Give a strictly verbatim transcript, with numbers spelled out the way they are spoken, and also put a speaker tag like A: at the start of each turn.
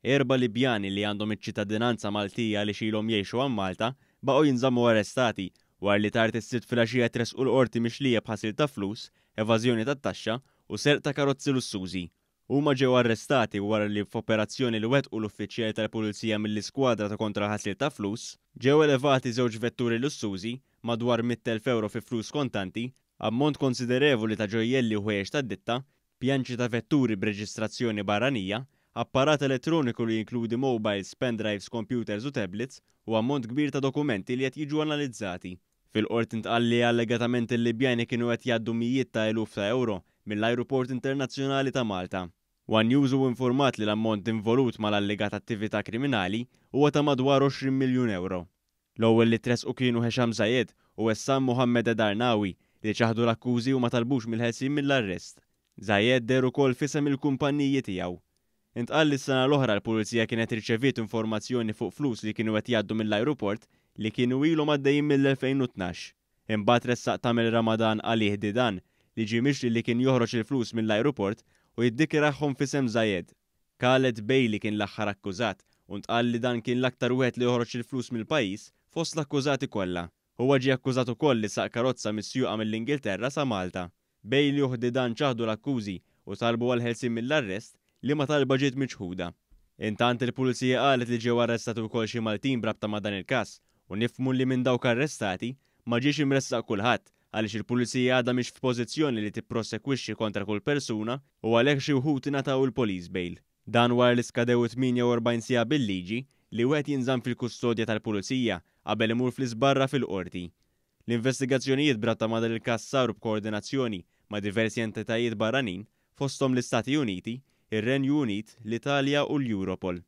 A: Erba' Libjani li għandhom iċ-ċittadinanza Maltija għaliex ilhom jgħixu hawn Malta baqgħu jinżammu arrestati wara li tard is-Sibt filgħaxija tressqu l-Qorti mixlija b'ħasil ta' flus, evażjoni tat-taxxa u serq ta' karozzi lussużi. Huma ġew arrestati wara li f'operazzjoni li wettqu l-uffiċjali tal-Pulizija mill-Iskwadra ta' Kontra l-Ħasil ta' Flus, ġew elevati żewġ vetturi lussużi, madwar mitt elf ewro fi flus kontanti, ammont konsiderevoli ta' ġojjelli u ħwejjeġ tad-ditta, pjanċi ta' vetturi b'reġistrazzjoni barranija, apparat elettroniku li jinkludi mobiles, pendrives, computers u tablets u ammont kbir ta' dokumenti li qed jiġu analizzati. Fil-qorti ntqal li allegatament il-Libjani kienu qed jgħaddu mijiet ta' eluf ta' ewro mill-Ajruport Internazzjonali ta' Malta. One News hu informat li l-ammont involut mal-allegata attività kriminali huwa ta' madwar għoxrin miljun ewro. L-ewwel li tressqu kienu Hesham Zayed u Essam Mohammed Edarnawi li ċaħdu l-akkużi u ma talbux mill-ħelsien mill-arrest. Zayed deher ukoll f'isem il-kumpaniji tiegħu. Intqal li s-sena l-oħra l-pulizija kienet irċeviet informazzjoni fuq flus li kienu qed jgħaddu mill-ajruport li kienu ilhom għaddejjin mill-elfejn u tnax. Imbagħad ressaq Tamel Ramadan Ali Hdidan li ġie mixli li kien joħroġ il-flus mill-ajruport u jiddikjarahom f'isem Zayed. Khaled Bailey kien l-aħħar akkużat u ntqal li dan kien l-aktar wieħed li joħroġ il-flus mill-pajjiż fost l-akkużati kollha. Huwa ġie akkużat ukoll li saq karozza misjuqa mill-Ingilterra sa Malta. Bailey u Hdidan ċaħdu l-akkużi u talbu għal ħelsien mill-arrest li ma talba ġiet miċħuda. Intant il-pulizija qalet li ġew arrestati wkoll xi Maltin b'rabta ma' dan il-każ u nifhmu li minn dawk arrestati ma ġiex imressaq kulħadd għaliex il-pulizija għadha mhix f'pożizzjoni li tipprosekwixxi kontra kull persuna u għalhekk xi wħud ingħataw il-police bail. Dan wara li skadew tmienja u erbgħin siegħa bil-liġi li wieħed jinżamm fil-kustodja tal-pulizija qabel imur fl-isbarra fil-qorti. L-investigazzjonijiet b'rabta ma' dan il-każ saru b'koordinazzjoni ma' diversi entitajiet barranin fosthom l-Istati Uniti, ir-Renju Unit, l-Italja u l-Europol.